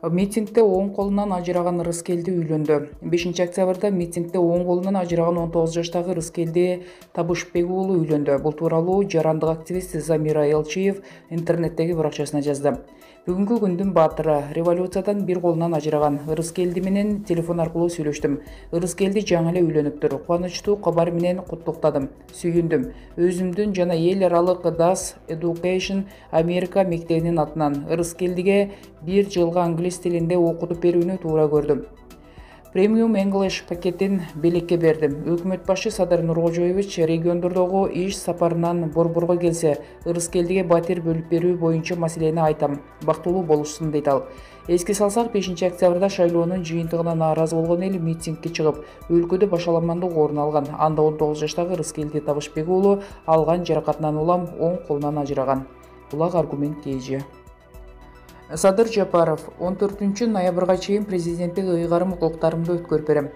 Митингде оң колунан ажыраган Рыскелди үйлөндү. 5-октябрда митингде оң колунан ажыраган 19 жаштагы Рыскелди Табышбек уулу үйлөндү. Бул тууралуу жарандык активист Замира Элчиев интернеттеги баракчасына жазды. Бүгүнкү күндүн баатыры, революциядан бир колунан ажыраган Рыскелди менен телефон аркылуу сүйлөштүм. Рыскелди жаңы эле үйлөнүптүр. Кубанычтуу кабар менен куттуктадым. Сүйүндүм. Өзүмдүн жана эл аралык DAS Education Америка мектебинин атынан Рыскелдиге 1 жылга англис тилинде окутуп берүүнү туура көрдүм. Премиум English пакетин белекке бердим. Өкмөт башы Садыр Нуркожоевич региондордогу иш сапарынан Борборго келсе, Рыскелдиге батир бөлүп берүү боюнча маселени айтам. Бактылуу болушсун дейт ал. Эске салсак, 5-октябрда шайлоонун жыйынтыгына нааразы болгон эл митингге чыгып, өлкөдө башаламандык орун алган. Анда 19 жаштагы Рыскелди Табышбек уулу алган жаракатынан улам оң колунан ажыраган. Булак аргумент KG. Садыр Жапаров 14 ноябрга чейин президенттик ыйгарым укуктарымды өткөрүп берем.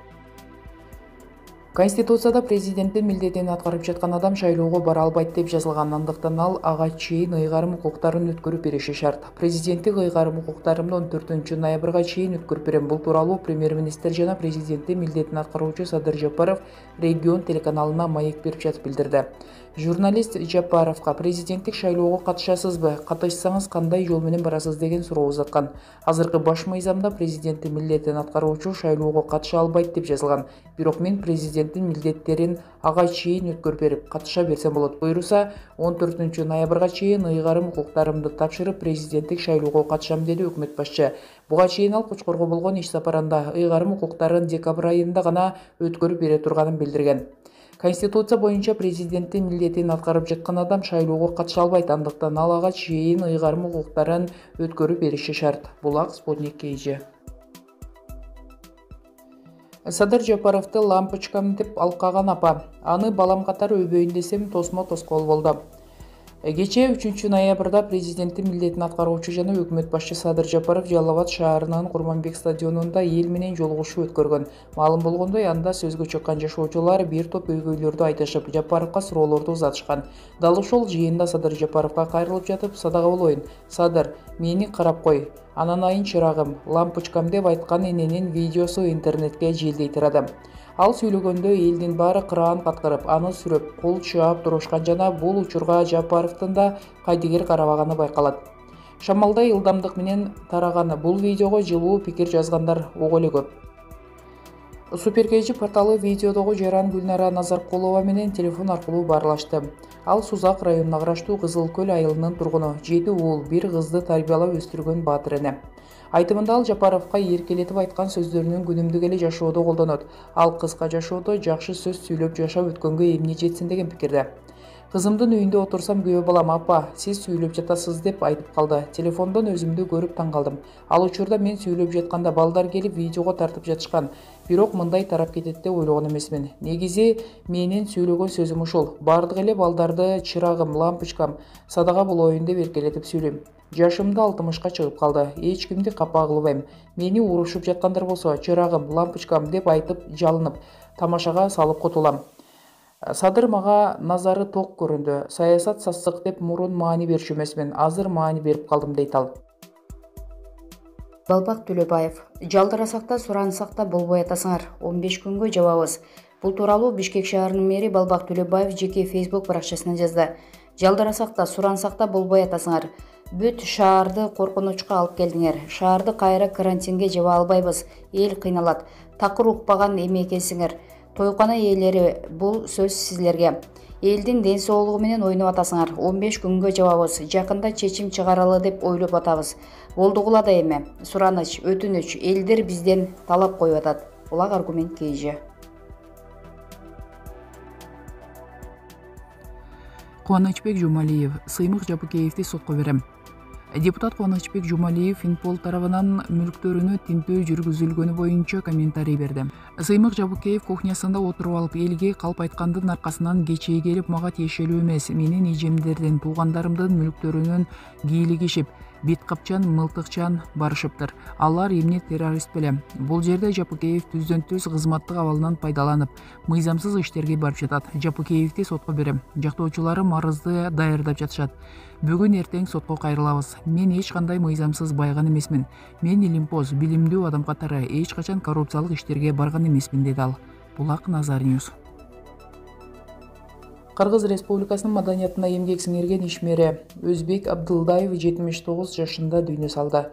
Конституцияда президенттин милдетин аткарып жаткан адам шайлоого бара албайт деп жазылган, андыктан ал ага чейин ыйгарым укуктарын өткөрүп бериши шарт. Президенттик ыйгарым укуктарымды 14 ноябрга чейин өткөрүп берем. Бул тууралуу премьер-министр жана президенттин милдетин аткаруучу Садыр Жапаров регион телеканалына маек берип жатып билдирди. Журналист Жапаровго президенттик шайлоого катышасызбы, катышсаңыз кандай жол менен барасыз деген суроо узаткан. Азыркы баш мыйзамда президенттин милдетин аткаруучу шайлоого катыша албайт деп жазылган. Бирок мен президенттин милдеттерин ага чейин өткөрүп берип, катыша берсем болот. Буйруса 14 ноябрга чейин ыйгарым укуктарымды тапшырып, президенттик шайлоого катышам, деди өкмөт башчы. Буга чейин ал Кочкорго болгон иш сапарында ыйгарым укуктарын декабрь айында гана өткөрүп бере турганын билдирген. Конституция боюнча президенттин милдетин аткарып жаткан адам шайлоого катыша албайт, андыктан ал ага чейин ыйгарым укуктарын өткөрүп бериши шарт. Булак Спутник KG. Садыр Жапаровду лампочкам деп алкаган апа. Аны балам катары өбөйүн десем тосмо-тоскоол болду. Кечээ 3 ноябрда президенттин милдетин аткаруучу жана өкмөт башчы Садыр Жапаров Жалал Абад шаарынын Курманбек стадионунда эл менен жолугушуу өткөргөн. Маалым болгондой, анда сөзгө чыккан жашоочулар бир топ өйгөйлөрдү айтышып, Жапаровго суроолорду узатышкан. Дал ошол жыйында Садыр Жапаровго кайрылып жатып, садага болоюн. Садыр, мени карап кой. Ананайын чырагым, лампочкам деп айткан эненин видеосу интернетке желдей тарады. Ал сүйлөгөндө элдин баары кыраан каткырып, аны сүрөп, кол чаап турушкан жана бул учурга Жапаровдун да кайдыгер карабаганы байкалат. Шамалдай ылдамдык менен тараган бул видеого жылуу пикир жазгандар ого эле көп. Супер KG порталы видеодогу жаран Гүлнара Назаркулова менен телефон аркылуу баарлашты. Ал Сузак районуна караштуу Кызыл Көл айылынын тургуну, 7 уул, 1 кызды тарбиялап өстүргөн баатыр эне. Айтымында ал Жапаровго эркелетип айткан сөздөрүнүн күнүмдүк эле жашоодо колдонот. Ал кыска жашоодо жакшы сөз сүйлөп жашап өткөнгө эмне жетсин деген пикирде. Кызымдын үйүндө отурсам күйөө балам, апа, сиз сүйлөп жатасыз деп айтып калды. Телефондон өзүмдү көрүп таң калдым. Ал учурда мен сүйлөп жатканда балдар келип видеого тартып жатышкан. Бирок мындай тарап кетет деп ойлогон эмесмин. Негизи менин сүйлөгөн сөзүм ушул. Бардык эле балдарды чырагым, лампочкам, садага болоюн деп эркелетип сүйлөйм. Жашымда 60ка чыгып калды. Эч кимди капа кылбайм. Мени урушуп жаткандар болсо, чырагым, лампочкам деп айтып жалынып, тамашага салып котулам. Садыр мага назары ток көрүндү. Саясат сасык деп мурун маани берчү эмесмин. Азыр маани берип калдым, дейт ал. Балбак Төлөбаев. Жалдырасак да, сурансак да болбой атасыңар. 15 күнгө жабабыз. Бул тууралуу Бишкек шаарынын мэри Балбак Төлөбаев жеке Facebook баракчасына жазды. Жалдырасак да, сурансак да болбой атасыңар. Бүт шаарды коркунучка алып келдиңер. Шаарды кайра карантинге жаба албайбыз. Эл кыйналат. Такыр укпаган эме экенсиңер. Тойкана ээлери, бул сөз силерге. Элдин ден соолугу менен ойноп атасыңар. 15 күнгө жабабыз. Жакында чечим чыгаралы деп ойлоп атабыз. Болдугула да эме. Сураныч, өтүнүч, элдер бизден талап коюп атат. Булак аргумент KG. Кубанычбек Жумалиев. Сыймык Жапыкеевди сотко берем. Депутат Кубанычбек Жумалиев Финпол тарабынан мүлктөрүнө тинтөө жүргүзүлгөнү боюнча комментарий берди. Сыймык Жапыкеев кухнясында отуруп алып, элге калп айткандын аркасынан кечээ келип мага тиешелүү эмес, менин эжемдердин, туугандарымдын мүлктөрүнөн кийлигишип, Бет капчан, мылтыкчан барышыптыр. Алар эмне террорист беле? Бул жерде Жапыкеев түздөн түз кызматтык абалынан пайдаланып, мыйзамсыз иштерге барып жатат. Жапыкеевди сотко берем. Жактоочуларым арызды даярдап жатышат. Бүгүн эртең сотко кайрылабыз. Мен эч кандай мыйзамсыз байган эмесмин. Мен илимпоз, билимдүү адам катары эч качан коррупциялык иштерге барган эмесмин, деди ал. Булак Назар Ньюс. Кыргыз Республикасынын маданиятына эмгек сиңирген ишмери Өзбек Абдылдаев 79 жашында дүйнө салды.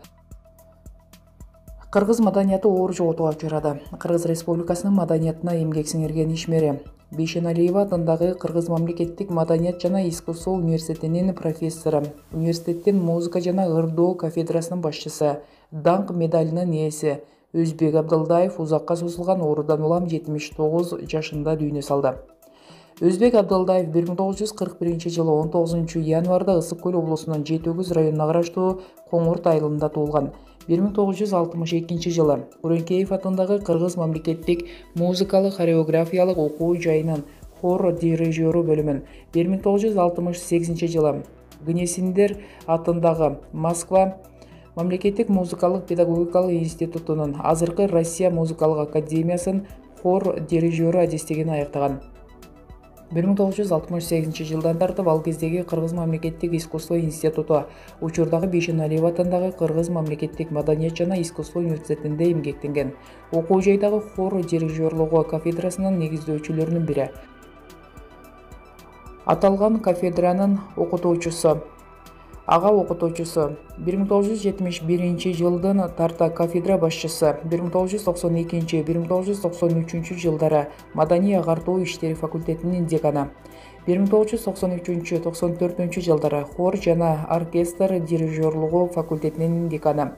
Кыргыз маданияты оор жоготууга учурады. Кыргыз Республикасынын маданиятына эмгек сиңирген ишмери Бейшеналиева атындагы Кыргыз мамлекеттик маданият жана искусство университетинин профессору, университеттин музыка жана ырдоо кафедрасынын башчысы, даңк медалинин ээси Өзбек Абдылдаев узакка созулган оорудан улам 79 жашында дүйнө салды. Өзбек Абдылдаев 1941 жылы 19 январда Ысык Көл облусунун Жети-Өгүз районуна караштуу Коңурт айылында туулган. 1962 жылы Уренкеев атындагы Кыргыз мамлекеттик музыкалык хореографиялык окуу жайынын хор дирижеру бөлүмүн, 1968 жылы Гнесиндер атындагы Москва мамлекеттик музыкалык педагогикалык институтунун, азыркы Россия музыкалык академиясын хор дирижеру адистигин аяктаган. 1968 жылдан тартып ал кездеги Кыргыз мамлекеттик искусство институту, учурдагы Бейшеналиева атындагы Кыргыз мамлекеттик маданият жана искусство университетинде эмгектенген. Окуу жайдагы хор дирижерлугу кафедрасынын негиздөөчүлөрүнүн бири. Аталган кафедранын окутуучусу, ага окутуучусу, 1971 жылдан тарта кафедра башчысы, 1992-1993 жылдары маданий агартуу иштери факультетинин деканы, 1993-94 жылдары хор жана оркестр дирижерлугу факультетинин деканы,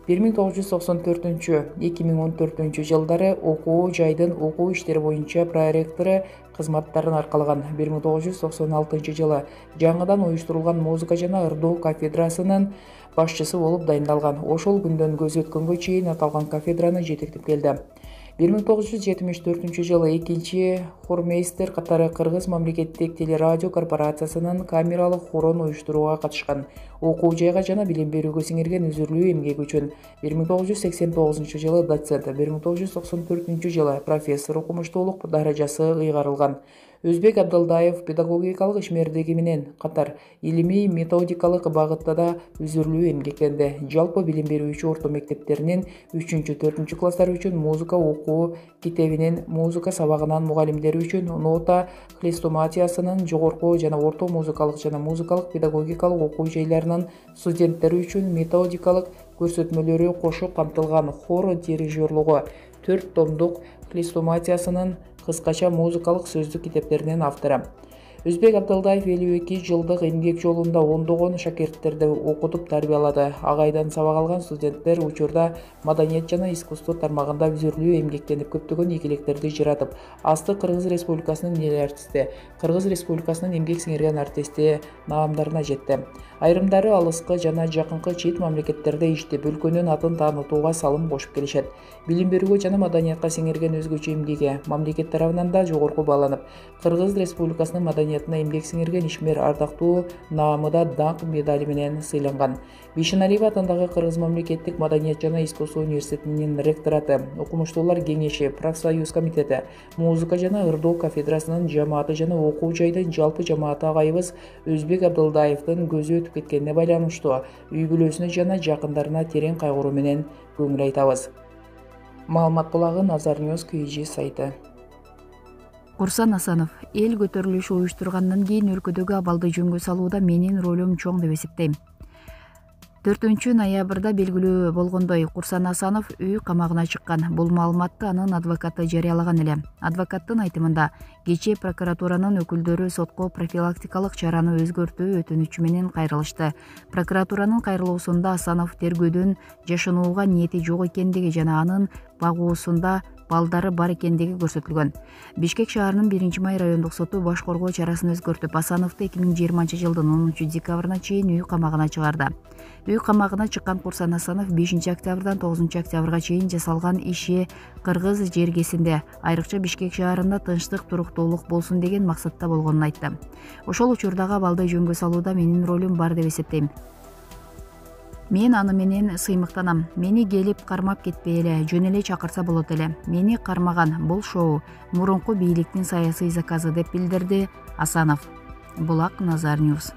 1994-2014 жылдары окуу жайдын окуу иштери боюнча проректору кызматтарын аркалаган. 1996 жылы жаңыдан уюштурулган музыка жана ырдоо кафедрасынын башчысы болуп дайындалган. Ошол күндөн көз өткөнгө чейин аталган кафедраны жетектеп келди. 1974 жылы экинчи хормейстер катары Кыргыз мамлекеттик телерадио корпорациясынын камералык хорун уюштурууга катышкан. Окуу жайга жана билим берүүгө сиңирген үзүрлүү эмгеги үчүн 1989 жылы доцент, 1994 жылы профессор окумуштуулук даражасы ыйгарылган. Өзбек Абдылдаев педагогикалык ишмердиги менен катар илимий методикалык багытта да үзүрлүү эмгектенди. Жалпы билим берүүчү орто мектептеринин 3-4 класстары үчүн музыка окуу китебинин, музыка сабагынын мугалимдери үчүн нота хрестоматиясынын, жогорку жана орто музыкалык жана музыкалык педагогикалык окуу жайларынын студенттери үчүн методикалык көрсөтмөлөрү кошо камтылган. Хор дирижерлугу 4 томдук хрестоматиясынын кыскача музыкалык сөздүк китептеринин автору. Өзбек Абдылдаев 52 жылдык эмгек жолунда ондогон шакирттерди окутуп тарбиялады. Агайдан сабак алган студенттер учурда маданият жана искусство тармагында үзүрлүү эмгектенип, көптөгөн ийгиликтерди жаратып, асты Кыргыз Республикасынын эл артисти, Кыргыз Республикасынын эмгек сиңирген артисти наамдарына жетти. Айрымдары алыскы жана жакынкы чет мамлекеттерде иштеп, өлкөнүн атын таанытууга салым кошуп келишет. Билим берүүгө жана маданиятка сиңирген өзгөчө эмгеги мамлекет тарабынан да жогорку бааланып, Кыргыз Республикасынын маданиятына эмгек сиңирген ишмер ардактуу наамыда даңк медали менен сыйланган. Бейшеналиева атындагы Кыргыз мамлекеттик маданият жана искусство университетинин ректораты, окумуштуулар кеңеши, профсоюз комитети, музыка жана ырдоо кафедрасынын жамааты жана окуу жайдын жалпы жамааты агайыбыз Өзбек Абдылдаевдин көзү өтүп кеткенине байланыштуу үй бүлөсүнө жана жакындарына терең кайгыруу менен көңүл айтабыз. Маалымат булагы Назар Ньюс KG сайты. Курсан Асанов: эл көтөрүлүшү уюштургандан кийин өлкөдөгү абалды жөнгө салууда менин ролум чоң деп эсептейм. 4 ноябрда белгилүү болгондой, Курсан Асанов үй камагына чыккан. Бул маалыматты анын адвокаты жарыялаган эле. Адвокаттын айтымында, кечээ прокуратуранын өкүлдөрү сотко профилактикалык чараны өзгөртүү өтүнүчү менен кайрылышты. Прокуратуранын кайрылуусунда Асанов тергөөдөн жашынууга ниети жок экендиги жана анын багуусунда балдары бар экендиги көрсөтүлгөн. Бишкек шаарынын 1-май райондук соту баш коргоо чарасын өзгөртүп, Асановду 2020 жылдын 10 декабрына чейин үй камагына чыгарды. Үй камагына чыккан Курсан Асанов 5 октябрдан 9 октябрга чейин жасалган иши Кыргыз жергесинде, айрыкча Бишкек шаарында тынчтык, туруктуулук болсун деген максатта болгонун айтты. Ошол учурдагы абалды жөнгө салууда менин ролум бар деп эсептейм. Мен аны менен сыймыктанам. Мени келип кармап кетпей эле, жөн эле чакырса болот эле. Мени кармаган бул шоу мурунку бийликтин саясий заказы деп билдирди Асанов. Булак Назар Ньюс.